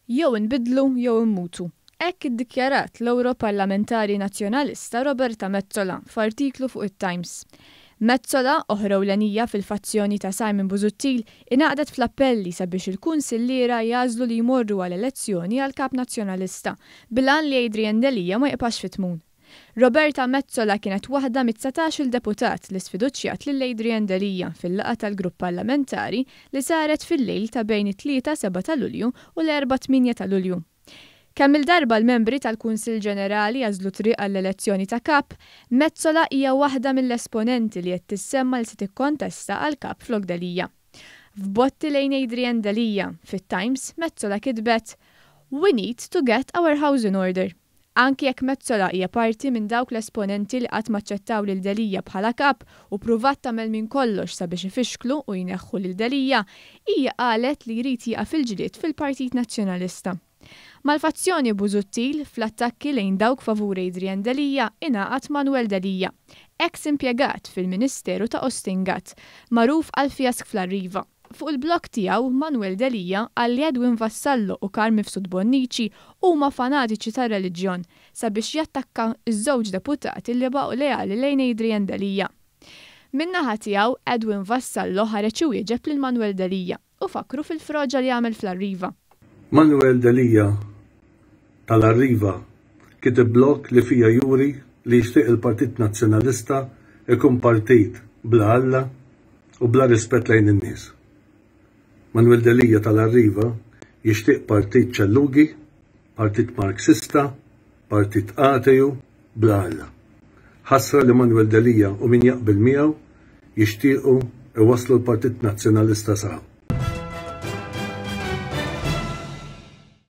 Jew inbiddlu jew immutu. Hekk iddikjarat l-Ewroparlamentari Nazzjonalista Roberta Metsola f'artiklu fuq it-Times. Metsola, oħra ewlenija fil-fazzjoni ta' Simon Busuttil, ingħaqdet fl-appelli sabiex il-kunsilliera jagħżlu li jmorru għal elezzjoni għal Kap Nazzjonalista, bil-għan li Adrian Delia ma jibqax fit-tmun. Roberta Metsola kienet waħda mit-dsatax-il deputat li sfiduċjat lil Adrian Delia fil-laqgħa tal-grupp parlamentari li saret fil-lejl ta' bejn it-Tlieta 7 ta' Lulju u l-Erbgħa 8 ta' Lulju. Kemm-il darba l-membri tal-Kunsill Ġenerali għażlu triq għall-elezzjoni ta' Kap, Metsola hija waħda mill-esponenti li qed tissemma li se tikkontesta għal Kap flok Delia. F'botti lejn Adrian Delia, fit-Times, Metsola kitbet, We need to get our house in order. Anki jekk Metsola hija parti minn dawk l-esponenti li qatt m'aċċettaw lil Delia bħala Kap u ppruvat tagħmel minn kollox sabiex ifixklu u jneħħu lil Delia, hija qalet li jrid jieqaf il-ġlied fil-Partit Nazzjonalista. Mal-fazzjoni Busuttil, fl-attakki lejn dawk favur Adrian Delia ingħaqad Manuel Delia, eks impjegat fil-Ministeru ta' Austin Gatt, magħruf għall-fjask fl-Arriva. Fuq il-blog tiegħu, Manuel Delia qal li Edwin Vassallo u Carm Mifsud Bonnici huma fanatiċi tar-reliġjon sabiex jattakka ż-żewġ deputati li baqgħu leali lejn Adrian Delia. Min-naħa tiegħu, Edwin Vassallo ħareġ iwieġeb lil Manuel Delia u fakkru fil-froġa li għamel fl-Arriva. Manuel Delia tal-Arriva kiteb blog li fiha juri li jixtieq il-Partit Nazzjonalista jkun partit bla Alla u bla rispett lejn in-nies. Manuel Delia tal-Arriva jixtieq partit ċellugi, partit Marxista, partit ateju, bla Alla. Ħasra li Manuel Delia u min jaqbel miegħu jixtiequ iwasslu l-Partit Nazzjonalista sa hawn.